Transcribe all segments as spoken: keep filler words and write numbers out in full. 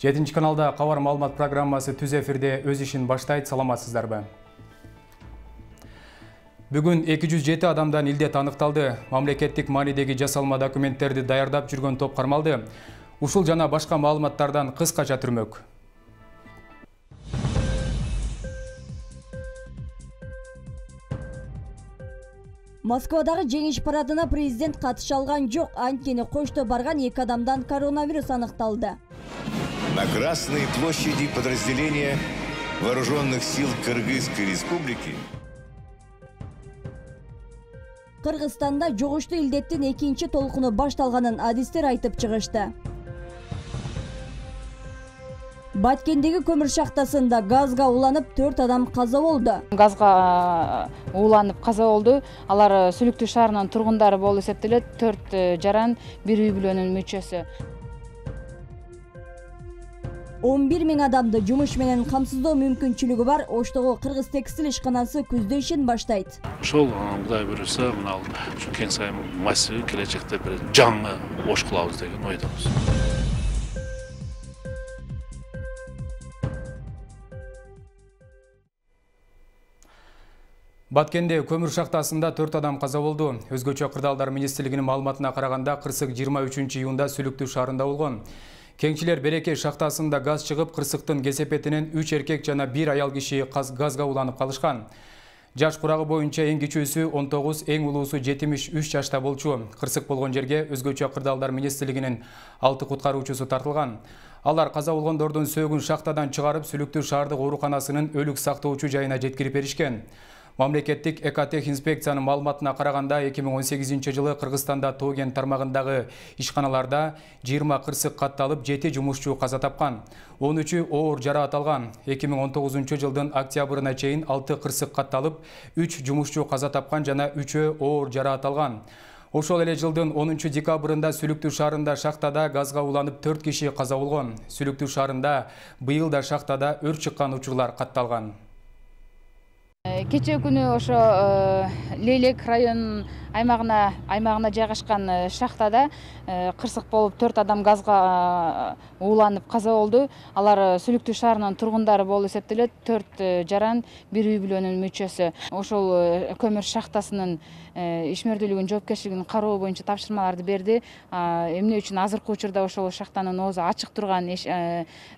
жетинчи каналда кабар маалымат программасы түз эфирде өз ишин баштайт. Саламатсыздарбы? Бүгүн эки жүз жети адамдан илдет аныкталды. Мамлекеттик маанидеги жасалма документтерди даярдап жүргөн топ кармалды. Ушул жана башка маалыматтардан кыскача түрмөк. Москвадагы жеңиш парадына президент катыша алган жок. Анткени кошто барган эки адамдан коронавирус аныкталды. На Красной площади подразделения Вооруженных сил Кыргызской республики Кыргызстанда жугуштуу илдеттин экинчи толкуну башталганын адистер айтып чыгышты. Баткендеги көмүр шахтасында газга уланып төрт адам каза болду. Газга уланып каза болду. Алар Сүлүктүү шаарынын тургундары болуп эсептелет. төрт жаран, бир үй бүлөнүн мүчөсү. он бир миң адамды жумуш менен камсыздоо мүмкүнчүлүгү бар Оштогу Кыргыз текстиль ишканасы күздө ишин баштайт. Ошол Кудай буюрса, мына ушу кең сайын массив келечекте бир жаңы Ош кылабыз деген ойдобуз. Баткенде көмүр шахтасында төрт адам каза болду. Өзгөчө кырдаалдар министрлигинин маалыматына караганда кырсык жыйырма үчүнчү июнда Сүлүктүү шаарында болгон. Кеңчилер Береке шахтасында газ чыгып, кырсыктын кесепетинен үч эркек жана бир аял киши газга уланып калышкан. Жаш курагы боюнча эң кичүүсү он тогуз, эң улуусу жетимиш үч жашта болчу. Кырсык болгон жерге өзгөчө кырдаалдар министрлигинин алты куткаруучусу тартылган. Алар каза болгондордун сөөгүн шахтадан чыгарып, Сүлүктүү шаардык ооруканасынын өлүк сактоочу жайына жеткирип беришкен. Мамлекеттик экотех инспекциянын маалыматына караганда эки миң он сегизинчи жылы Кыргызстанда Тоген тармагындагы ишканаларда жыйырма кырсык катталып, жети жумушчу каза тапкан. он үчү оор жараат алган. эки миң он тогузунчу жылдын октябрына чейин алты кырсык катталып, үч жумушчу каза тапкан жана үчөө оор жараат алган. Ошол эле жылдын онунчу декабрында Сүлүктүү шаарында шахтада газга уланып төрт киши каза болгон. Сүлүктүү шаарында быйыл да шахтада өрт чыккан учурлар катталган. Кечээ күнү ошо Лейлек район аймагына аймагына жайгашкан шахтада кырсык болуп төрт адам газга уланып каза болду. Алар Сүлүктүү шаарынын тургундары болуп эсептелет. төрт жаран, бир үй бүлөнүн мүчөсү. Ошол көмүр шахтасынын ишмердүүлүгүнүн жоопкерчилигин кароо боюнча тапшырмаларды берди. Эмне үчүн азыркы учурда ошол шахтанын оозу ачык турган,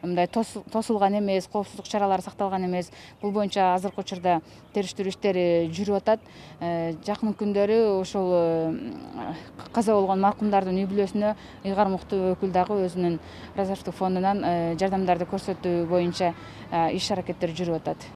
мындай тосулган эмес, коопсуздук чаралары сакталган эмес. Бул боюнча азыркы учурда териштирүү иштери жүрүп атат. Жакын күндөрү ошол каза болгон маркумдардын үй бүлөсүнө ыйгар муктуу өкүл дагы өзүнүн резервдик фондунан жардамдарды көрсөтүү боюнча иш-аракеттер жүрүп атат.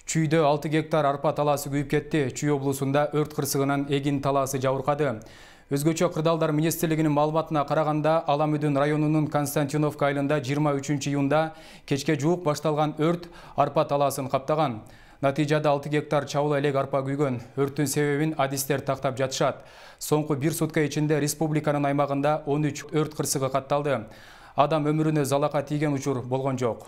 Чүйдө алты гектар арпа талаасы күйүп кетти. Чүй облусунда өрт кырсыгынан эгин талаасы жабыркады. Өзгөчө кырдаалдар министрлигинин маалыматына караганда Аламүдүн районунун Константиновка айылында жыйырма үчүнчү июнда кечке жуук башталган өрт арпа талаасын каптаган. Натыйжада алты гектар чабыл элек арпа күйгөн. Өрттүн себебин адистер тактап жатышат. Соңку бир сутка ичинде республиканын аймагында он үч өрт кырсыгы катталды. Адам өмүрүнө залака тийген учур болгон жок.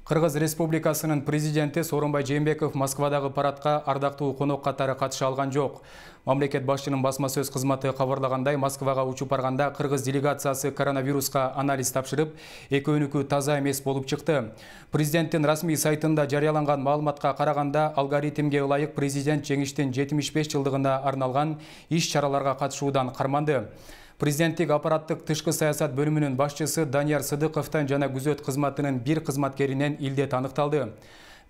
Кыргыз Республикасынын президенти Сооронбай Жээнбеков Москвадагы парадка ардактуу конок катары катыша алган жок. Мамлекет башчынын басма сөз кызматы кабарлагандай, Москвага учуп барганда кыргыз делегациясы коронавируска анализ тапшырып, экөөнүкү таза эмес болуп чыкты. Президенттин расмий сайтында жарыяланган маалыматка караганда, алгоритмге ылайык президент жеңиштин жетимиш беш жылдыгына арналган иш-чараларга катышуудан карманды. Президенттик аппараттык тышкы саясат бөлүмүнүн башчысы Данияр Сыдыковдон жана күзөт кызматынын бир кызматкеринен илдет аныкталды.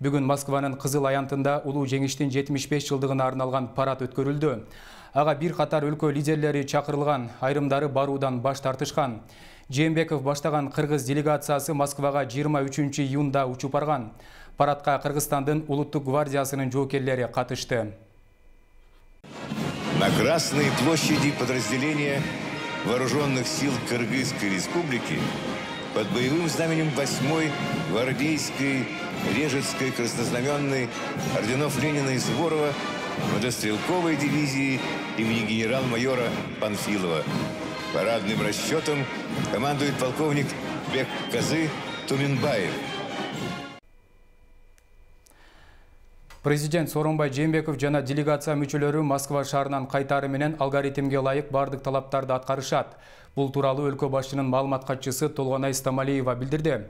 Бүгүн Москванын Кызыл Аянтында улуу жеңиштин жетимиш беш жылдыгына арналган парад өткөрүлдү. Ага бир катар өлкө лидерлери чакырылган, айрымдары баруудан баш тартышкан. Жээнбеков баштаган кыргыз делегациясы Москвага жыйырма үчүнчү июнда учуп барган. Парадка Кыргызстандын улуттук гвардиясынын жоокерлери катышты. На Красной площади подразделения Вооруженных сил Кыргызской республики под боевым знаменем восьмой гвардейской Режецкой краснознаменной орденов Ленина и Суворова мотострелковой дивизии имени генерал-майора Панфилова. Парадным расчетом командует полковник Бекказы Туминбаев. Президент Сооронбай Жээнбеков жана делегация мүчөлөрү Москва шаарынан кайтаары менен алгоритмге ылайык бардык талаптарды аткарышат. Бул тууралуу өлкө башчынын маалымат катчысы Толгонай Стамалиева билдирди.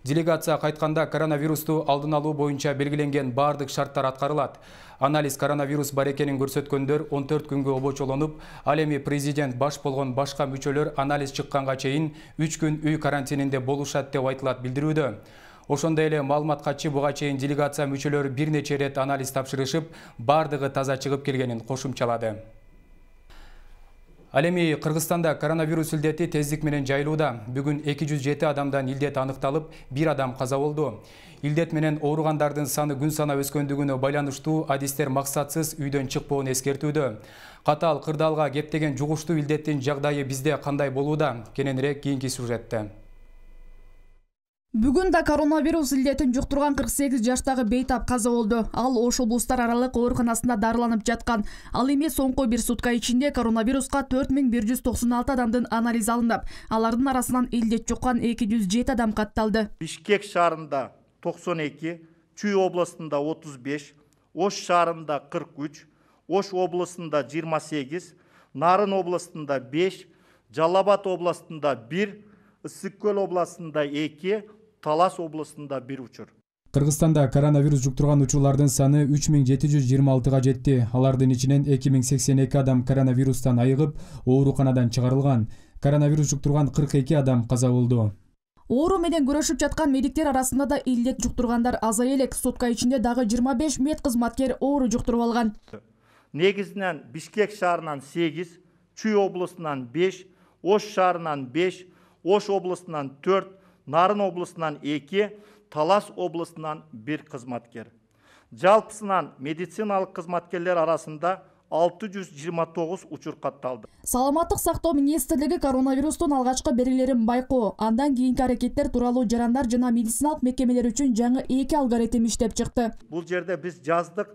Делегация кайтканда коронавирусту алдын алуу боюнча белгиленген бардык шарттар аткарылат. Анализ коронавирус бар экенин көрсөткөндөр он төрт күнгө обочолонуп, ал эми президент баш болгон башка мүчөлөр анализ чыкканга чейин үч күн үй карантининде болушат деп айтылат билдирүүдө. Ошондой эле маалымат катчы буга чейин делегация мүчөлөрү бир нече рет анализ тапшырышып, бардыгы таза чыгып келгенин кошумчалады. Ал эми Кыргызстанда коронавирус илдети тездик менен жайылууда. Бүгүн эки жүз жети адамдан илдет аныкталып, бир адам каза болду. Илдет менен ооругандардын саны күн сана өскөндүгүнө байланыштуу адистер максатсыз үйдөн чыкпоон эскертүүдө. Катаал кырдаалга кептеген жугуштуу илдеттин жагдайы бизде кандай болууда? Кененирээк кийинки сюжетте. Бүгүн да коронавирус илдетин жуктурган кырк сегиз жаштагы бейтап каза болду. Ал Ош облустар аралык ооруканасында дарыланып жаткан. Ал эми соңку бир сутка ичинде коронавируска төрт миң бир жүз токсон алты адамдын анализи алынып, алардын арасынан илдет жуккан эки жүз жети адам катталды. Бишкек шаарында токсон эки, Чүй областында отуз беш, Ош шаарында кырк үч, Ош областында жыйырма сегиз, Нарын областында беш, Жалал Абад областында бир, Ысык Көл областында эки, Талас областында бир учур. Кыргызстанда коронавирус жуктурган учурлардын саны үч миң жети жүз жыйырма алтыга жетти. Алардын ичинен эки миң сексен эки адам коронавирустан айыгып, ооруканадан чыгарылган. Коронавирус жуктурган кырк эки адам каза болду. Оору менен күрөшүп жаткан медиктер арасында да илдет жуктургандар азая элек. Сутка ичинде дагы жыйырма беш медкызматкер оору жуктуруп алган. Негизинен Бишкек шаарынан сегиз, Чүй областынан беш, Ош шаарынан беш, Ош областынан төрт, Нарын областынан эки, Талас областынан бир кызматкер. Жалпысынан медициналык кызматкерлер арасында алты жүз жыйырма тогуз учур катталды. Саламаттык сактоо министрлиги коронавирустун алгачкы белгилерин байкоо, андан кийинки аракеттер тууралуу жарандар жана медициналык мекемелер үчүн жаңы эки алгоритм иштеп чыкты. Бул жерде биз жаздык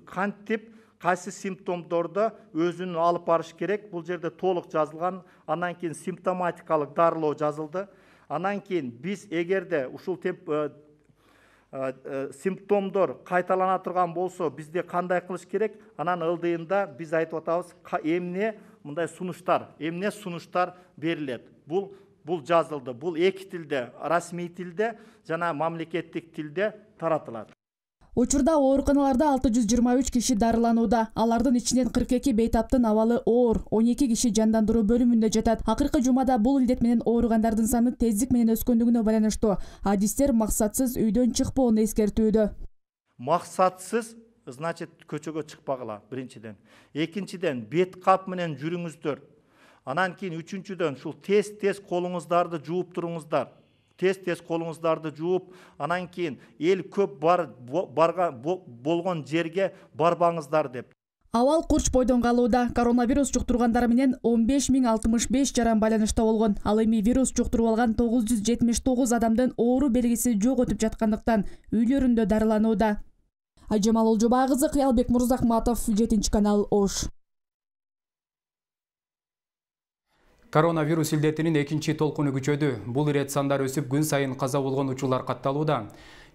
кантип кайсы симптомдорду өзүнүн алып барыш керек. Бул жерде толук жазылган. Андан кийин симптоматикалык дарылоо жазылды. Анан кийин биз эгерде ушул темп симптомдор кайталана турган болсо, бизде кандай кылыш керек? Анан ылдыйында биз айтып атабыз, эмне мындай сунуштар, эмне сунуштар берилет. Бул бул жазылды. Бул эки тилде, расмий тилде жана мамлекеттик тилде таратылат. Учурда ооруканаларда алты жүз жыйырма үч киши дарыланууда. Алардын ичинен кырк эки бейтаптын абалы оор, он эки киши жандандыруу бөлүмүндө жатат. Акыркы жумада бул илдет менен ооругандардын саны тездик менен өскөндүгүнө байланыштуу. Адистер максатсыз үйдөн чыкпоону эскертүүдө. Максатсыз, значит, көчөгө чыкпагыла биринчиден. Экинчиден, бет кап менен жүрүңүздөр. Анан кийин үчүнчүдөн, ушул тез-тез колуңуздарды жууп туруңуздар. Тез-тез колуңуздарды жууп, анан кийин эл көп бар барга болгон жерге барбаңыздар деп. Абал курч бойдон калууда. Коронавирус жуктургандар менен он беш миң алтымыш беш жаран байланышта болгон. Ал эми вирус жуктуруп алган тогуз жүз жетимиш тогуз адамдын оору белгиси жок өтүп жаткандыктан үйлөрүндө дарыланууда. Айжамал Олжобай кызы, Кыялбек Мурзахматов, жетинчи канал, Ош. Коронавирус илдетинин экинчи толкуну күчөдү. Бул ирет сандар өсүп, күн сайын каза болгон учурлар катталууда.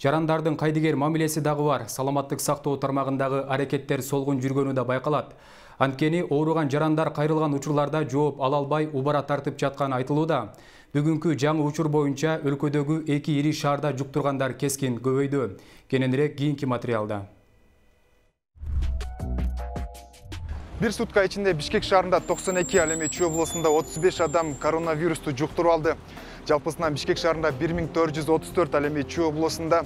Жарандардын кайдыгер мамилеси дагы бар. Саламаттык сактоо тармагындагы аракеттер солгун жүргөнү да байкалат. Анткени ооруган жарандар кайрылган учурларда жооп ала албай убара тартып жатканы айтылууда. Бүгүнкү жаңы учур боюнча өлкөдөгү эки ири шаарда жуктургандар кескин көбөйдү. Кененирээк кийинки материалда. Бир сутка ичинде Бишкек шаарында токсон эки, ал эми Чүй областында отуз беш адам коронавирусту жуктуруп алды. Жалпысынан Бишкек шаарында бир миң төрт жүз отуз төрт, ал эми Чүй областында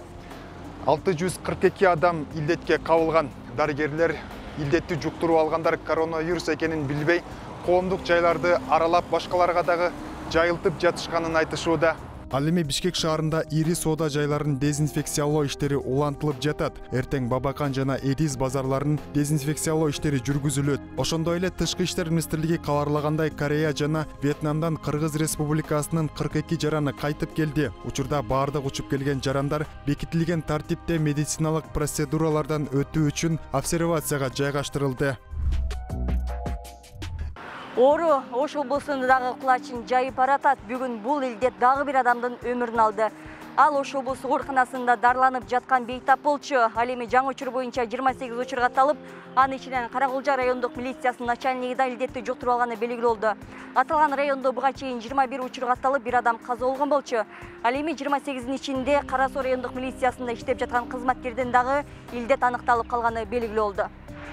алты жүз кырк эки адам илдетке кабылган. Дарыгерлер илдетти жуктуруп алгандар коронавирус экенин билбей, коомдук жайларды аралап башкаларга дагы жайылтып жатышканын айтышууда. Ал эми Бишкек шаарында ири соода жайларын дезинфекциялоо иштери улантылып жатат. Эртең Бабакан жана Эдиз базарларын дезинфекциялоо иштери жүргүзүлөт. Ошондой эле Тышкы иштер министрлиги кабарлагандай, Корея жана Вьетнамдан Кыргыз Республикасынын кырк эки жараны кайтып келди. Учурда баардык учуп келген жарандар бекитилген тартипте медициналык процедуралардан өтүү үчүн обсервацияга жайгаштырылды. Оору Ош облусунда дагы кулачын жайып баратат. Бүгүн бул илдет дагы бир адамдын өмүрүн алды. Ал Ош облустук ооруканасында дарыланып жаткан бейтап болчу. Ал эми жаңы учур боюнча жыйырма сегиз учур катталып, анын ичинен Каракулжа райондук милициясынын начальниги да илдетти жуктуруп алганы белгилүү болду. Аталган райондо буга чейин жыйырма бир учур катталып, бир адам каза болгон болчу. Ал эми жыйырма сегиздин ичинде Кара Суу райондук милициясында иштеп жаткан кызматкердин дагы илдет аныкталып калганы белгилүү болду.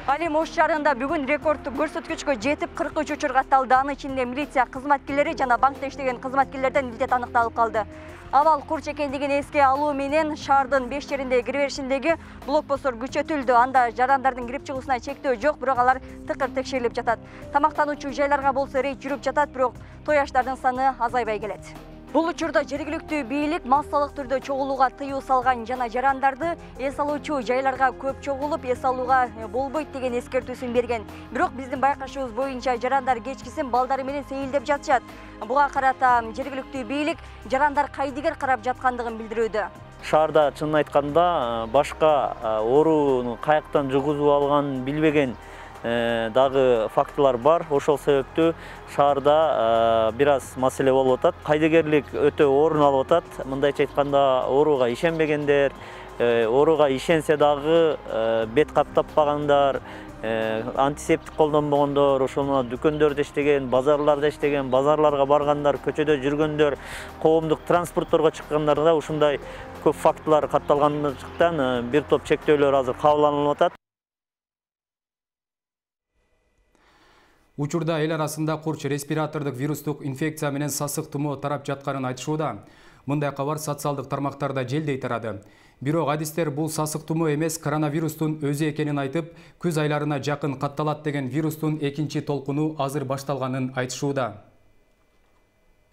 Ал эми Ош шаарында бүгүн рекордтук көрсөткүчкө жетип кырк үч учур катталды. Анын ичинде милиция кызматкерлери жана банкта иштеген кызматкерлерден илдет аныкталып калды. Абал курч экендигин эске алуу менен шаардын беш жеринде киреберишиндеги блокпосттор күчөтүлдү. Анда жарандардын кирип чыгуусуна чектөө жок, бирок алар тыкыр текшерилип жатат. Тамактануучу жайларга болсо рейд жүрүп жатат, бирок той аштардын саны азайбай келет. Бул учурда жергиликтүү бийлик массалык түрдө чогулууга тыюу салган жана жарандарды эс алуучу жайларга көп чогулуп, эс алууга болбойт деген эскертүүсүн берген. Бирок биздин байкашыбыз боюнча жарандар кечкисин балдары менен сейилдеп жатышат. Буга карата жергиликтүү бийлик жарандар кайдыгер карап жаткандыгын билдирүүдө. Шаарда чынын айтканда башка ооруну каяктан жугузуп алганын билбеген дагы фактылар бар. Ошол себептүү шаарда бир аз маселе болуп атат. Кайдыгерлик өтө орун алып атат. Мындайча айтканда, ооруга ишенбегендер, ооруга ишенсе дагы бет кап таппагандар, антисептик колдонбогондор, ошону дүкөндөрдө иштеген, базарларда иштеген, базарларга баргандар, көчөдө жүргөндөр, коомдук транспортторго чыккандарда ушундай көп фактылар катталгандыктан бир топ чектөөлөр азыр кабыл алынып атат. Учурда эл арасында курч респиратордук вирустук инфекция менен сасык тумоо тарап жатканын айтышууда. Мындай кабар социалдык тармактарда желдей тарады. Бирок адистер бул сасык тумоо эмес, коронавирустун өзү экенин айтып, күз айларына жакын катталат деген вирустун экинчи толкуну азыр башталганын айтышууда.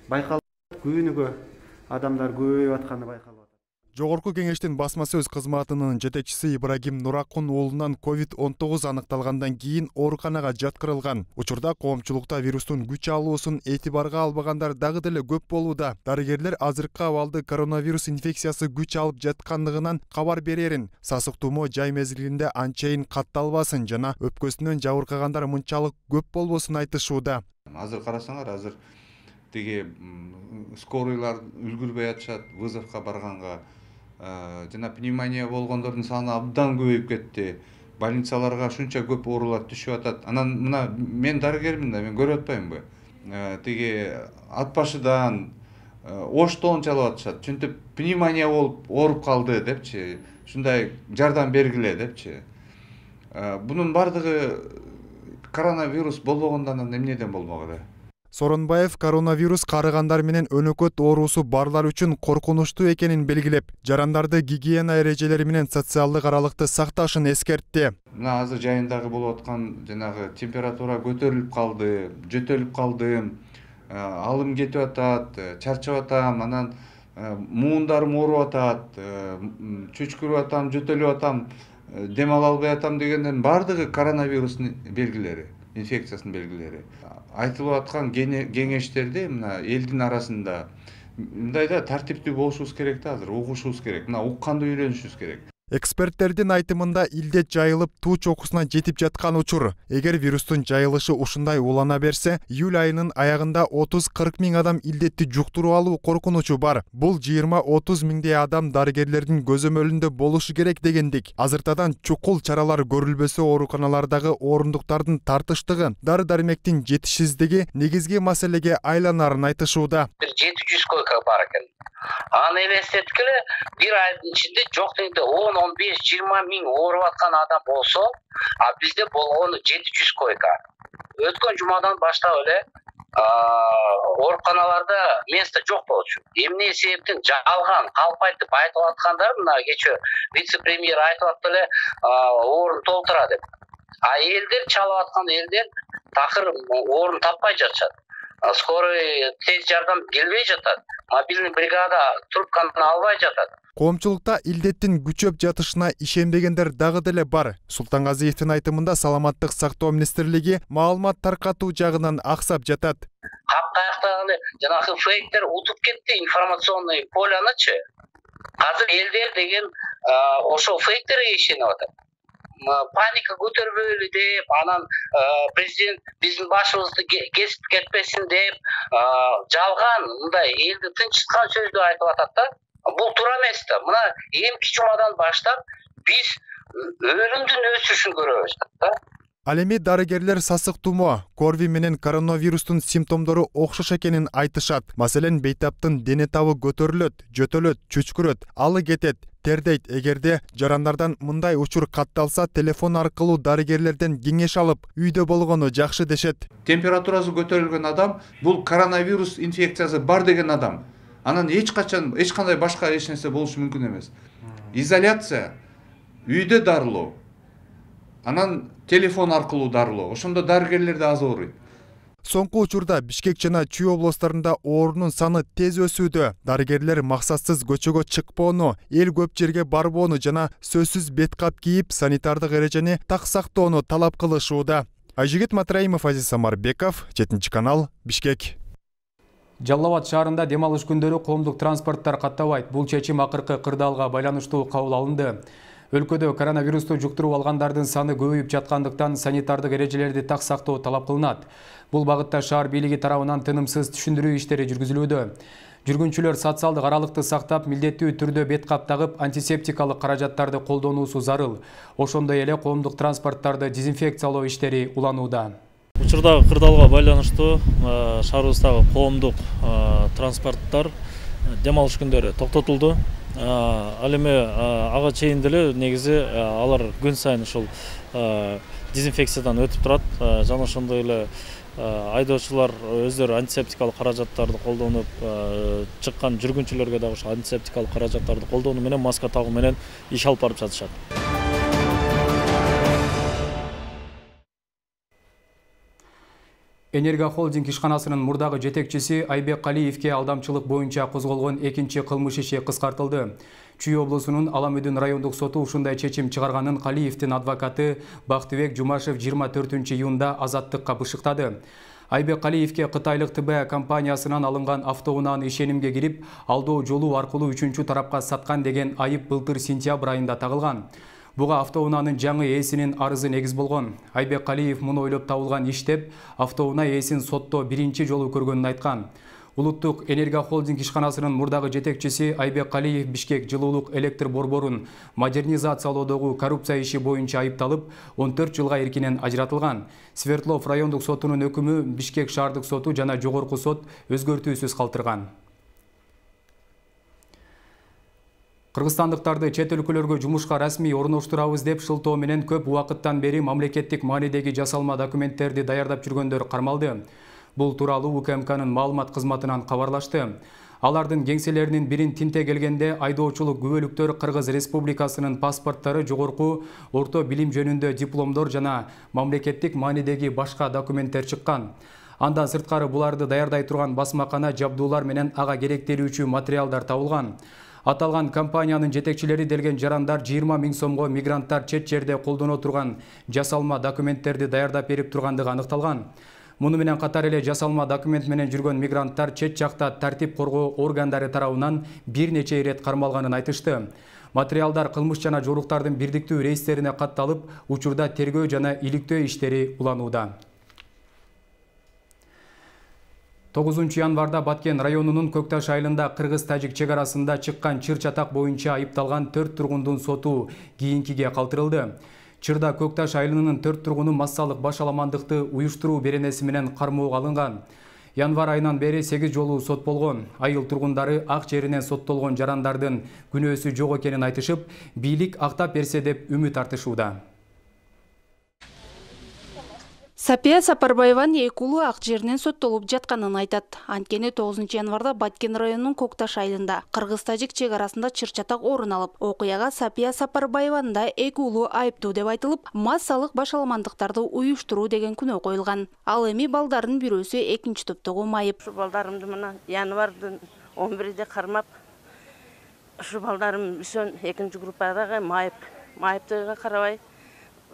Байкалып күнүгө адамдар көбөйүп атканы байкалып. Жогорку кеңештин басма сөз кызматынын жетекчиси Ибрагим Нуракун уулунан ковид он тогуз аныкталгандан кийин ооруканага жаткырылган. Учурда коомчулукта вирустун күч алуусун этибарга албагандар дагы деле көп болууда. Дарыгерлер азыркы абалды коронавирус инфекциясы күч алып жаткандыгынан кабар берерин, сасык тумоо жай мезгилинде анчайын катталбасын жана өпкөсүнөн жабыркагандар мынчалык көп болбосун айтышууда. Азыр карасаңар, азыр тиги скорыйлар үлгүрбөй атышат, вызовко барганга. Жана пневмония болгондордун саны абдан көбөйүп кетти. Больницаларга шунча көп оорулар түшүп атат. Анан мына мен дарыгермин да, мен көрүп атпаймынбы? Тиги ат башыдан, Оштон чалып атышат. Чынтип пневмония болуп ооруп калды депчи, ушундай жардам бергиле депчи. Бунун бардыгы коронавирус болбогондан эмнеден болмок эле? Соронбаев коронавирус карыгандар менен өнөкөт оорусу барлар үчүн коркунучтуу экенин белгилеп, жарандарды гигиена эрежелери менен социалдык аралыкты сакташын эскертти. Мына азыр жайындагы болуп аткан жанагы температура көтөрүлүп калды, жөтөлүп калдым, алым кетип атат, чарчап атам, анан муундарым ооруп атат, чөчкүрүп атам, жөтөлүп атам, дем ала албай атам дегендердин бардыгы коронавирустун белгилери, инфекциясынын белгилери. Айтылып аткан кеңештерди мына элдин арасында мындайда тартиптүү болушубуз керек да, азыр угушубуз керек. Мына укканды үйрөнүшүбүз керек. Эксперттердин айтымында илдет жайылып туу чокусуна жетип жаткан учур. Эгер вирустун жайылышы ушундай улана берсе, июль айынын аягында отуз кырк миң адам илдетти жуктуруп алуу коркунучу бар. Бул жыйырма отуз миңдей адам дарыгерлердин көзөмөлүндө болушу керек дегендик. Азыртадан чукул чаралар көрүлбөсө, ооруканалардагы орундуктардын тартыштыгы, дары-дармектин жетишсиздиги негизги маселеге айланарын айтышууда. жети жүз койка бар экен. Аны элестеткиле, бир айдын ичинде жок дегенде он он беш жыйырма миң ооруп аткан адам болсо, а бизде болгону жети жүз койка. Өткөн жумадан баштап эле ооруканаларда место жок болчу. Эмне себептен жалган, калп айтып айтып аткандар, мына кечээ вице-премьер айтып атты эле, орун толтура деп. А элдер чалып аткан элдер такыр орун таппай жатышат. Скорый тез жардам келбей жатат. Мобильный бригада трубканы албай жатат. Коомчулукта илдеттин күчөп жатышына ишенбегендер дагы деле бар. Султангазиевдин айтымында саламаттык сактоо министрлиги маалымат таркатуу жагынан аксап жатат. Капкаяктагы жанагы фейктер утуп кетти информационный полянычы. Азыр элдер деген ошо фейктерге ишенип атат. Паника көтөрбөйлү деп, анан президент биздин башыбызды кесип кетпесин деп, жалган мындай элди тынчыткан сөздү айтып атат да. Бул туура эмес да. Мына эмки жумадан баштап биз өлүмдүн өсүшүн көрөбүз да. Ал эми дарыгерлер сасык тумоо, корви менен коронавирустун симптомдору окшош экенин айтышат. Маселен, бейтаптын дене табы көтөрүлөт, жөтөлөт, чүчкүрөт, алы кетет, тердейт. Эгерде жарандардан мындай учур катталса, телефон аркылуу дарыгерлерден кеңеш алып, үйдө болгону жакшы дешет. Температурасы көтөрүлгөн адам бул коронавирус инфекциясы бар деген адам. Анан эч качан эч кандай башка эч нерсе болушу мүмкүн эмес. Изоляция, үйдө дарылоо, анан телефон аркылуу дарылоо. Ошондо дарыгерлер да аз ооруйт. Соңку учурда Бишкек жана Чүй областарында оорунун саны тез өсүүдө. Дарыгерлер максатсыз көчөгө чыкпоону, эл көп жерге барбоону жана сөзсүз бет кап кийип, санитардык эрежени так сактоону талап кылышууда. Айжигит Матраимов, Азиз Самарбеков, жетинчи канал, Бишкек. Жалал Абад шаарында дем алыш күндөрү коомдук транспорттор каттабайт. Бул чечим акыркы кырдаалга байланыштуу кабыл алынды. Өлкөдө коронавирусту жуктуруп алгандардын саны көбөйүп жаткандыктан санитардык эрежелерди так сактоо талап кылынат. Бул багытта шаар бийлиги тарабынан тынымсыз түшүндүрүү иштери жүргүзүлүүдө. Жүргүнчүлөр социалдык аралыкты сактап, милдеттүү түрдө бет кап тагып, антисептикалык каражаттарды колдонуусу зарыл. Ошондой эле коомдук транспорттарды дезинфекциялоо иштери уланууда. Учурдагы кырдаалга байланыштуу шаарыбыздагы коомдук транспорттор дем алыш күндөрү токтотулду. Ал эми ага чейин деле негизи алар күн сайын ушул дезинфекциядан өтүп турат. Жана ошондой эле айдоочулар өздөрү антисептикалык каражаттарды колдонуп, чыккан жүргүнчүлөргө дагы ошол антисептикалык каражаттарды колдонуу менен, маска тагуу менен иш алып барып жатышат. Энерго холдинг ишканасынын мурдагы жетекчиси Айбек Калиевке алдамчылык боюнча козголгон экинчи кылмыш иши кыскартылды. Чүй облусунун Аламүдүн райондук соту ушундай чечим чыгарганын Калиевдин адвокаты Бактыбек Жумашев жыйырма төртүнчү июнда азаттыкка бышыктады. Айбек Калиевке Кытайлык Т Б компаниясынан алынган автоунааны ишенимге кирип, алдоо жолу аркылуу үчүнчү тарапка саткан деген айып былтыр сентябрь айында тагылган. Буга автоунаанын жаңы ээсинин арызы негиз болгон. Айбек Калиев муну ойлоп табылган иш деп, автоунаа ээсин сотто биринчи жолу көргөнүн айткан. Улуттук Энерго холдинг ишканасынын мурдагы жетекчиси Айбек Калиев Бишкек жылуулук электр борборун модернизациялоодогу коррупция иши боюнча айыпталып, он төрт жылга эркинен ажыратылган. Свердлов райондук сотунун өкүмү Бишкек шаардык соту жана жогорку сот өзгөртүүсүз калтырган. Кыргызстандыктарды чет өлкөлөргө жумушка расмий орноштурабыз деп шылтоо менен көп убакыттан бери мамлекеттик маанидеги жасалма документтерди даярдап жүргөндөр кармалды. Бул тууралуу У К М К'нын маалымат кызматынан кабарлашты. Алардын кеңселеринин бирин тинте келгенде айдоочулук күбөлүктөр Кыргыз Республикасынын паспорттары, жогорку орто билим жөнүндө дипломдор жана мамлекеттик маанидеги башка документтер чыккан. Андан сырткары буларды даярдай турган басмакана, жабдуулар менен ага керектелүүчү материалдар табылган. Аталган компаниянын жетекчилери делген жарандар жыйырма миң сомго мигранттар чет жерде колдоно турган жасалма документтерди даярдап берип тургандыгы аныкталган. Муну менен катар эле жасалма документ менен жүргөн мигранттар чет жакта тартип коргоо органдары тарабынан бир нече ирет кармалганын айтышты. Материалдар кылмыш жана жоруктардын бирдиктүү рейстерине катталып, учурда тергөө жана иликтөө иштери уланууда. тогузунчу январда Баткен районунун Көкташ айылында Кыргыз-Тажик чек арасында чыккан чыр чатак боюнча айыпталган төрт тургундун соту кийинкиге калтырылды. Чырда Көкташ айылынын төрт тургуну массалык башаламандыкты уюштуруу беренеси менен кармоого алынган. Январь айынан бери сегиз жолу сот болгон. Айыл тургундары ак жеринен соттолгон жарандардын күнөөсү жок экенин айтышып, бийлик актап берсе деп үмүт артышууда. Сапия Сапарбаеванын эки уулу ак жеринен соттолуп жатканын айтат. Анткени тогузунчу январда Баткен районунун Көкташ айылында Кыргыз-Тажик чек арасында чыр-чатак орун алып, окуяга Сапия Сапарбаеванын да эки уулу айыптуу деп айтылып, массалык башаламандыктарды уюштуруу деген күнөө коюлган. Ал эми балдардын бирөөсү экинчи топтогу майып. Ушу балдарымды мына январдын он биринде кармап, ушу балдарым үсөн экинчи группадагы майып, майыптыгыга карабай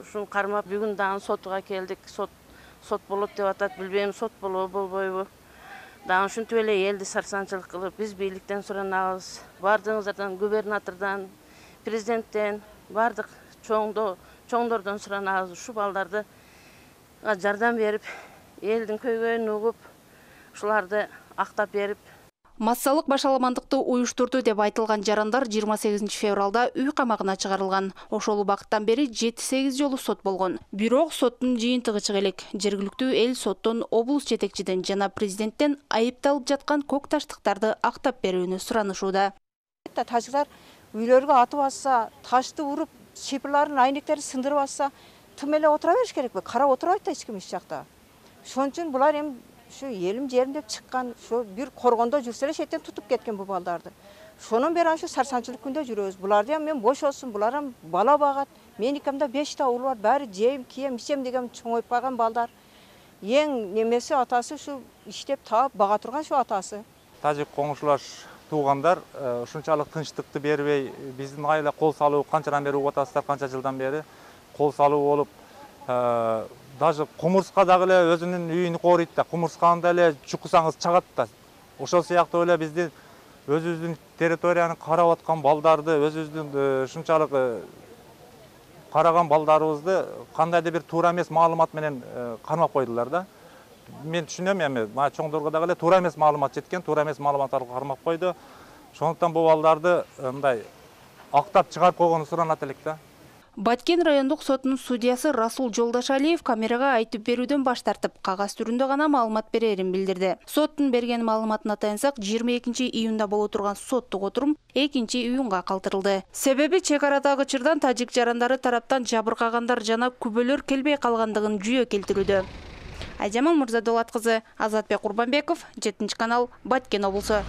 ушун кармап бүгүн дагы сотуга келдик. Сот сот болот деп атат, билбейм сот болобу болбойбу. Дагы ушинтип эле элди сарсанчылык кылып, биз бийликтен суранабыз. Бардыгыңыздардан, губернатордон, президенттен, бардык чоңдо чоңдордон суранабыз. Ушу балдарды жардам берип, элдин көйгөйүн угуп, ушуларды актап берип. Массалык башаламандыкты уюштурду деп айтылган жарандар жыйырма сегизинчи февралда үй камагына чыгарылган. Ошол убакыттан бери жети сегиз жолу сот болгон. Бирок соттун жыйынтыгы чыга элек. Жергиликтүү эл соттон облус жетекчиден жана президенттен айыпталып жаткан көк таштыктарды актап берүүнү суранышууда. Тажыктар үйлөргө атып атса, ташты уруп, шипырларын, айнектерин сындырып атса, тым эле отура бериш керекпи? Карап отурбайт да эч ким иш жакта. Ошон үчүн булар эми şu елім жерім деп шыққан, şu bir коргондо жүрселер шеттен тутуп кеткен bu балдарды. Шонун бери şu сарсанчылык күндө жүрөбүз. Буларды мен бош болсун, булар бала багат. Мен икемде беш та уул бар, баары жейм, кийем, ичем деген чоңоюп калган балдар. Эң немеси атасы şu иштеп таап бага турган şu атасы. Тажик коңшулаш туугандар ушунчалык тынчтыкты бербей, биздин айла кол салуу канчадан бери угуп атасыздар, канча жылдан бери кол салуу болуп, даже кумурска дагы эле өзүнүн үйүн корuyт да, кумурсканы эле чукусаңыз чагат да. Ошол сыяктуу эле биздин өзүбүздүн территорияны карап аткан балдарды, өзүбүздүн ушунчалык караган балдарыбызды кандайдыр бир туура эмес маалымат менен кармап койдулар да. Мен түшүнөм эми, мага чоңдорго дагы эле туура эмес маалымат жеткен, туура эмес маалымат аркылуу кармап койду. Ошондуктан бул балдарды мындай актап чыгарып койгону суранат элек да. Баткен райондук сотунун судьясы Расул Жолдашалиев камерага айтып берүүдөн баш тартып, кагаз түрүндө гана маалымат берерин билдирди. Соттун берген маалыматына таянсак, жыйырма экинчи июнда боло турган соттук отурум экинчи июнга калтырылды. Себеби чек арадагы чырдан тажик жарандары тараптан жабыркагандар жана күбөлөр келбей калгандыгын жүйө келтирүүдө. Айжамал Мырзадолат кызы, Азатбек Курбанбеков, жетинчи канал, Баткен облусу.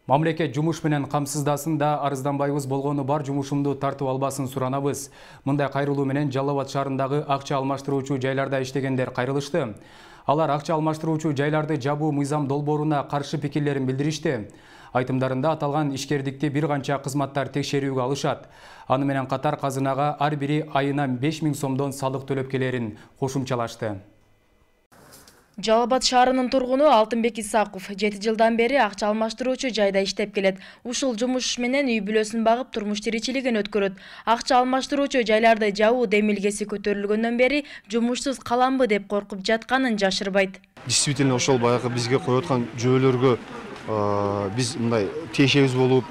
Мамлекет жумуш менен камсыздасын да арызданбайбыз, болгону бар жумушумду тартып албасын суранабыз. Мындай кайрылуу менен Жалал Абад шаарындагы акча алмаштыруучу жайларда иштегендер кайрылышты. Алар акча алмаштыруучу жайларды жабуу мыйзам долбооруна каршы пикирлерин билдиришти. Айтымдарында аталган ишкердикти бир канча кызматтар текшерүүгө алышат. Аны менен катар казынага ар бири айына беш миң сомдон салык төлөп келерин кошумчалашты. Жалал Абад шаарынын тургуну Алтынбек Исаков жети жылдан бери акча алмаштыруучу жайда иштеп келет. Ушул жумуш менен үй бүлөсүн багып турмуш тиричилигин өткөрөт. Акча алмаштыруучу жайларды жабуу демилгеси көтөрүлгөндөн бери жумушсуз каламбы деп коркуп жатканын жашырбайт. Действительно ошол баягы бизге коюп аткан жөөлөргө биз мындай тиешебиз болуп,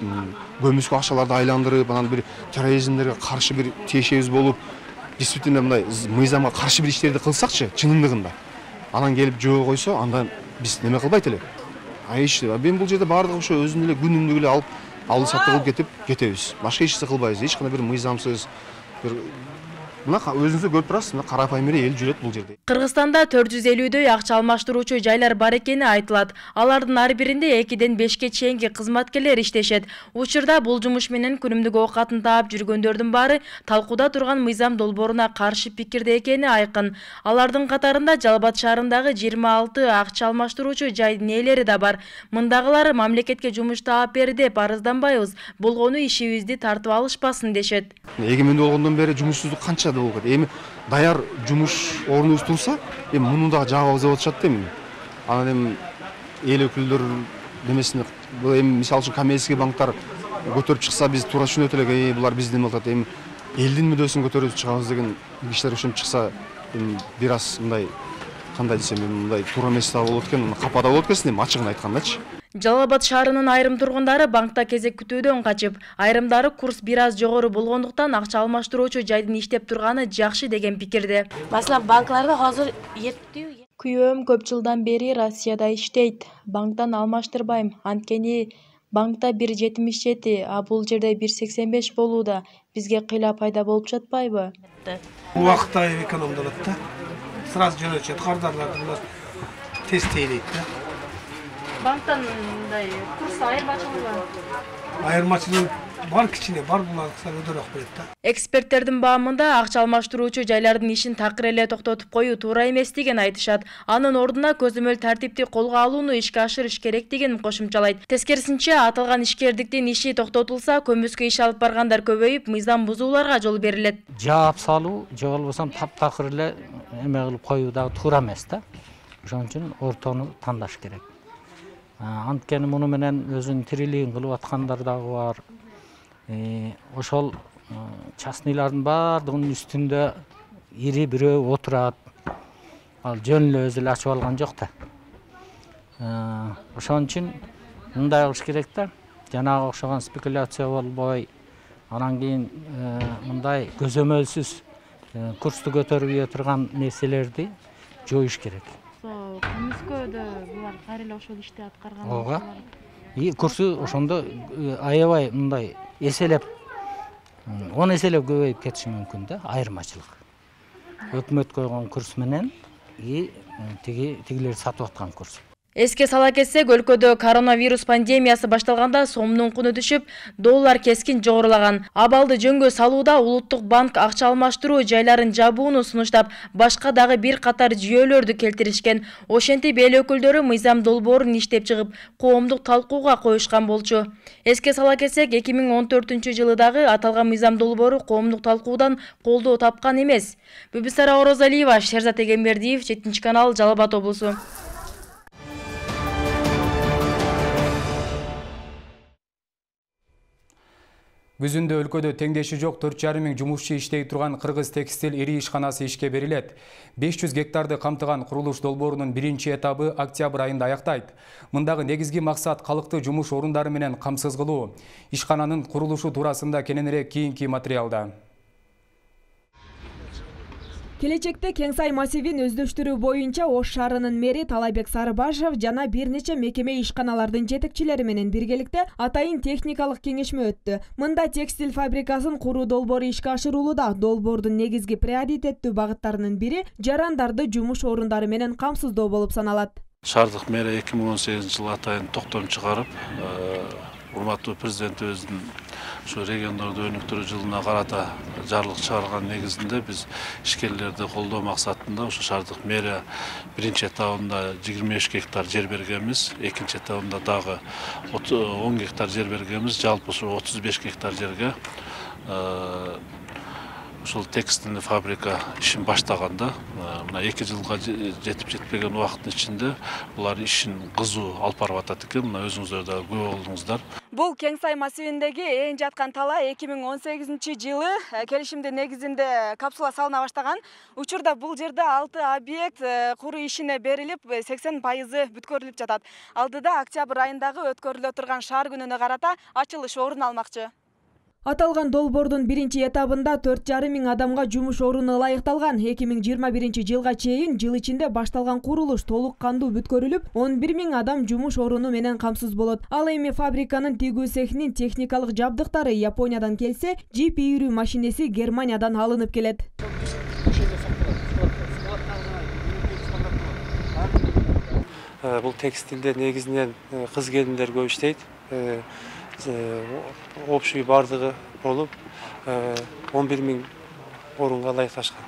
көмүскө акчаларды айландырып, анан бир терроризмдерге каршы бир тиешебиз болуп, действительно мындай мыйзамга каршы бир иштерди кылсакчы, чынындыгында. Анан келип жөө койсо, андан биз неме кылбайт эле. Ай иш, мен бул жерде баардыгы ошо өзүнүн эле күнүмдүк эле алып, алып сатып кылып кетип кетебиз. Башка эч нерсе кылбайбыз. Эч кандай бир мыйзамсыз, бир мына өзүңүз көрүп турасыз, мына карапайым эле эл жүрөт бул жерде. Кыргызстанда төрт жүз элүүдөй акча алмаштыруучу жайлар бар экени айтылат. Алардын ар биринде экиден бешке чейинки кызматкерлер иштешет. Учурда бул жумуш менен күнүмдүк оокатын таап жүргөндөрдүн баары талкууда турган мыйзам долбооруна каршы пикирде экени айкын. Алардын катарында Жалал Абад шаарындагы жыйырма алты акча алмаштыруучу жайдын ээлери да бар. Мындагылар мамлекетке жумуш таап бери деп арызданбайбыз, болгону ишибизди тартып алышпасын дешет. Эгемендүү болгондон бери жумушсуздук канча болот. Эми даяр жумуш орнубуз турса, эми муну да жабабыз деп атышат да эми. Анан эми эл өкүлдөр немесине, бул эми мисалы үчүн коммерческий банктар көтөрүп чыкса, биз туура түшүнөт элек, булар биздин атат. Эми элдин мүддөсүн көтөрүп чыгабыз деген кишилер ошентип чыкса, эми бир аз мындай кандай десем, мындай туура эмес да болот экен, капада болот экен, эми ачыгын айткандачы. Жалал Абад шаарынын айрым тургундары банкта кезек күтүүдөн качып, айрымдары курс бир аз жогору болгондуктан акча алмаштыруучу жайдын иштеп турганы жакшы деген пикирде. Маселен, банкларда азыр эптүү. Күйөөм көп жылдан бери Россияда иштейт. Банктан алмаштырбайм. Анткени банкта бир жетимиш жети, а бул жерде бир сексен беш болууда. Бизге кыйла пайда болуп жатпайбы? Убакытта экономдолот да. Сразу жөнөтүшөт, кардарларды булар тез тейлейт да. Банктан мындай курс айырмачылыгы бар. Айырмачылык бар, кичине бар, булар өдөрөөк берет да. Эксперттердин баамында акча алмаштыруучу жайлардын ишин такыр эле токтотуп коюу туура эмес деген айтышат. Анын ордуна көзөмөл тартипти колго алууну ишке ашырыш керек деген кошумчалайт. Тескерисинче, аталган ишкердиктин иши токтотулса, көмүскө иш алып баргандар көбөйүп, мыйзам бузууларга жол берилет. Жаап салуу, же болбосо таптакыр эле эме кылып коюу дагы туура эмес да. Ошон үчүн ортону тандаш керек. Анткени муну менен өзүнүн тирилигин кылып аткандар дагы бар. Ошол частныйлардын баардыгынын үстүндө ири бирөө отурат. Ал жөн эле өзү эле ачып алган жок да. Ошон үчүн мындай кылыш керек да. Жанагы окшогон спекуляция болбой, анан кийин мындай көзөмөлсүз курсту көтөрүп турган нерселерди жоюш керек. Кыргызкөдө булар кайра эле ошол ишти аткарган. Ооба. И курсу ошондо аябай мындай эселеп, он эселеп көбөйүп кетиши мүмкүн да, айырмачылык. Өкмөт койгон курс менен и тиги тигилер сатып аткан курс. Эске сала кетсек, өлкөдө коронавирус пандемиясы башталганда сомдун куну түшүп, доллар кескин жогорулаган. Абалды жөнгө салууда Улуттук банк акча алмаштыруу жайларын жабууну сунуштап, башка дагы бир катар жүйөлөрдү келтиришкен. Ошентип эл өкүлдөрү мыйзам долбоорун иштеп чыгып, коомдук талкууга коюшкан болчу. Эске сала кетсек, эки миң он төртүнчү жылы дагы аталган мыйзам долбоору коомдук талкуудан колдоо тапкан эмес. Бүбүсара Орозалиева, Шерзат Эгембердиев, жетинчи канал, Жалал Абад облусу. Күзүндө өлкөдө теңдеши жок төрт жарым миң жумушчу иштей турган Кыргыз текстиль ири ишканасы ишке берилет. беш жүз гектарды камтыган курулуш долбоорунун биринчи этабы октябрь айында аяктайт. Мындагы негизги максат калкты жумуш орундары менен камсыз кылуу. Ишкананын курулушу туурасында кененирээк кийинки материалда. Келечекте Кеңсай массивин өздөштүрүү боюнча Ош шаарынын мэри Талайбек Сарыбашев жана бир нече мекеме ишканалардын жетекчилери менен биргеликте атайын техникалык кеңешме өттү. Мында текстиль фабрикасын куруу долбоору ишке ашырылууда. Долбоордун негизги приоритеттүү багыттарынын бири жарандарды жумуш орундары менен камсыздоо болуп саналат. Шаардык мэрия эки миң он сегизинчи жылы атайын токтом чыгарып, урматтуу президентибиздин ушу региондорду өнүктүрүү жылына карата жарлык чыгарган негизинде биз ишкерлерди колдоо максатында ушу шаардык мэрия биринчи этабында жыйырма үч гектар жер бергенбиз, экинчи этабында дагы он гектар жер бергенбиз, жалпы ушу отуз беш гектар жерге ушул текстильный фабрика ишин баштаганда, мына эки жылга жетип жетпеген убакыттын ичинде булар ишин кызуу алып барып атат экен. Мына өзүңүздөр да күбө болдуңуздар. Бул Кеңсай массивиндеги эң жаткан талаа эки миң он сегизинчи жылы келишимдин негизинде капсула салына баштаган. Учурда бул жерде алты объект куруу ишине берилип, сексен пайызы бүткөрүлүп жатат. Алдыда октябрь айындагы өткөрүлө турган шаар күнүнө карата ачылыш орун алмакчы. Аталган долбоордун биринчи этабында төрт жарым миң адамга жумуш оруну ылайыкталган. эки миң жыйырма биринчи жылга чейин жыл ичинде башталган курулуш толук кандуу бүткөрүлүп, он бир миң адам жумуш оруну менен камсыз болот. Ал эми фабриканын тигүү цехинин техникалык жабдыктары Япониядан келсе, джип ийрүү машинеси Германиядан алынып келет. Бул текстилде негизинен кыз келиндер көп иштейт. Общий бардыгы болуп он бир миң орунга ылайыкташкан.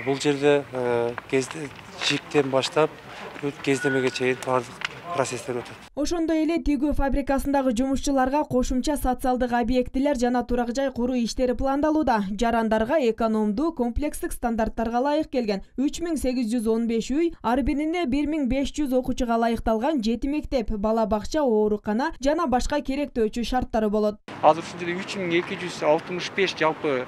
Бул жерде жиптен баштап кездемеге чейин бардык процесстер өтөт. Ошондой эле тигүү фабрикасындагы жумушчуларга кошумча социалдык объектилер жана турак жай куруу иштери пландалууда. Жарандарга экономдуу комплекстик стандарттарга ылайык келген үч миң сегиз жүз он беш үй, ар бирине бир миң беш жүз окуучуга ылайыкталган жети мектеп, бала бакча, оорукана жана башка керектөөчү шарттары болот. Азыр ушул жерде үч миң эки жүз алтымыш беш жалпы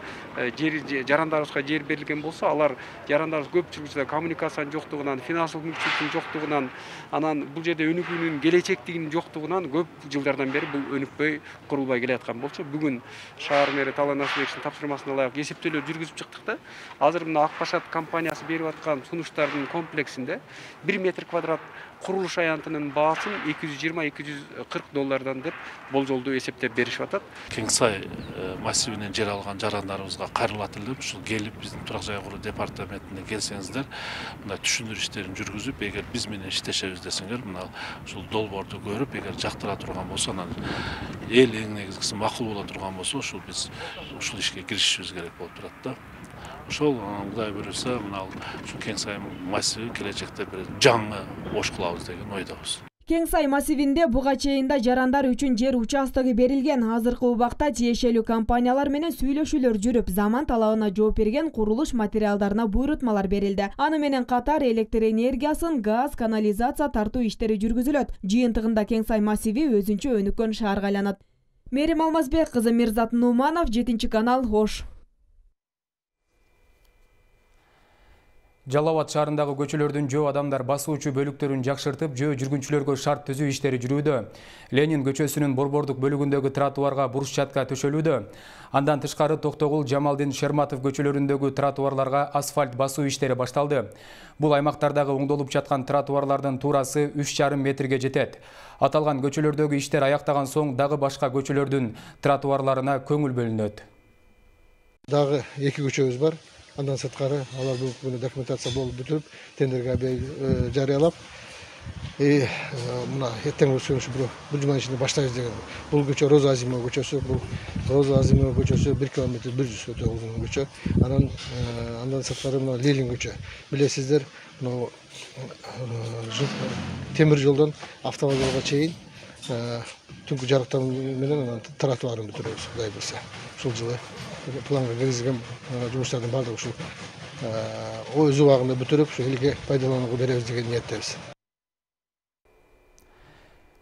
жер жарандарыбызга жер берилген болсо, алар жарандарыбыз көпчүлүгү коммуникациянын жоктугунан, финансылык мүмкүнчүлүктүн жоктугунан, анан бул жерде өнүгүүнүн келечектигинин жоктугунан көп жылдардан бери бул өнүкпөй курулбай келаткан болчу. Бүгүн шаар мэри Талай Насыбековичтин тапшырмасына ылайык эсептөөлөр жүргүзүп чыктык да. Азыр мына Акбашат компаниясы берип аткан сунуштардын комплексинде бир метр квадрат курулуш аянтынын баасын эки жүз жыйырма эки жүз кырк доллардан деп болжолдуу эсептеп беришип атат. Кеңсай массивинен жер алган жарандарыбызга кайрылат элем. Ушул келип биздин турак жай куруу департаментине келсеңиздер, мына түшүндүрүү иштерин жүргүзүп, эгер биз менен иштешебиз десеңер, мына ушул долбоорду көрүп, эгер жактыра турган болсо, анан эл эң негизгиси макул боло турган болсо, ушул биз ушул ишке киришишибиз керек болуп турат да. Ошол Кудай буйруса, мына ушу Кеңсай массиви келечекте бир жаңы Ош кылабыз деген ойдобуз. Кеңсай массивинде буга чейин да жарандар үчүн жер участогу берилген. Азыркы убакта тиешелүү компаниялар менен сүйлөшүүлөр жүрүп, заман талабына жооп берген курулуш материалдарына буйрутмалар берилди. Аны менен катар электр энергиясын, газ, канализация тартуу иштери жүргүзүлөт. Жыйынтыгында Кеңсай массиви өзүнчө өнүккөн шаарга айланат. Мерим Алмазбек кызы, Мирзат Нуманов, жетинчи канал, Ош. Жалал Абад шаарындагы көчөлөрдүн жөө адамдар басуучу бөлүктөрүн жакшыртып, жөө жүргүнчүлөргө шарт түзүү иштери жүрүүдө. Ленин көчөсүнүн борбордук бөлүгүндөгү тротуарга брусчатка төшөлүүдө. Андан тышкары Токтогул, Жамалдин, Шерматов көчөлөрүндөгү тротуарларга асфальт басуу иштери башталды. Бул аймактардагы оңдолуп жаткан тротуарлардын туурасы үч жарым метрге жетет. Аталган көчөлөрдөгү иштер аяктаган соң дагы башка көчөлөрдүн тротуарларына көңүл бөлүнөт. Дагы эки көчөбүз бар. Андан сырткары алар бүгүнкү документация болуп бүтүп, тендерге жарыялап, мына эртең бул жума ичинде баштайбыз деген. Бул көчө Роза Азимова көчөсү, бул Роза Азимова көчөсү бир километр бир жүз өтө узун көчө. Анан андан сырткары мына Ленин көчө. Билесиздер, мына темир жолдон автовокзалга чейин түнкү жарыктануу менен тротуарын бүтүрөбүз, Кудай буйрса. Ушул жылы планга киргизилген жумуштардын баардыгы ушул өз убагында бүтүрүп, ушу элге пайдаланууга беребиз деген ниеттебиз.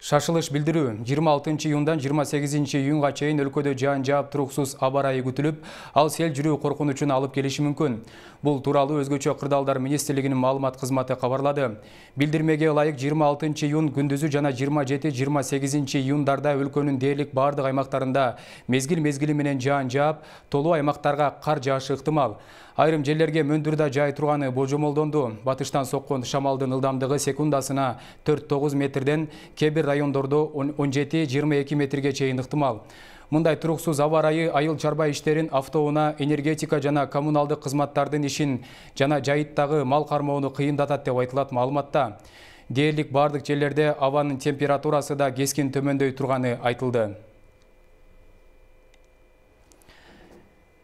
Шашылыш билдирүү жыйырма алтынчы июндан жыйырма сегизинчи июнга чейин өлкөдө жаан жаап туруксуз аба ырайы күтүлүп, ал сел жүрүү коркунучун алып келиши мүмкүн. Бул тууралуу Өзгөчө кырдаалдар министрлигинин маалымат кызматы кабарлады. Билдирмеге ылайык жыйырма алтынчы июн күндүзү жана жыйырма жети жыйырма сегизинчи июндарда өлкөнүн дээрлик бардык аймактарында мезгил-мезгили менен жаан жаап, толуу аймактарга кар жаашы ыктымал. Айрым жерлерге мөндүр да жай турганы божомолдонду. Батыштан соккон шамалдын ылдамдыгы секундасына төрт тогуз метрден, кээ бир райондордо он жети жыйырма эки метрге чейин ыктымал. Мындай туруксуз аба ырайы айыл чарба иштерин, автоунаа, энергетика жана коммуналдык кызматтардын ишин жана жайыттагы мал кармоону кыйындатат деп айтылат маалыматта. Дээрлик бардык жерлерде абанын температурасы да кескин төмөндөй турганы айтылды.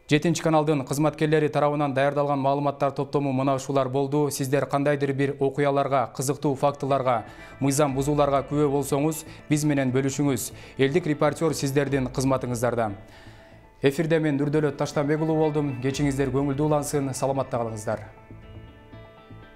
Жетинчи каналдын кызматкерлери тарабынан даярдалган маалыматтар топтому мына ушулар болду. Сиздер кандайдыр бир окуяларга, кызыктуу фактыларга, мыйзам бузууларга күбө болсоңуз, биз менен бөлүшүңүз. Элдик репортер сиздердин кызматыңыздарда. Эфирде мен Нурдөлөт Таштанбек уулу болдум. Кечиңиздер көңүлдүү улансын, саламатта калыңыздар.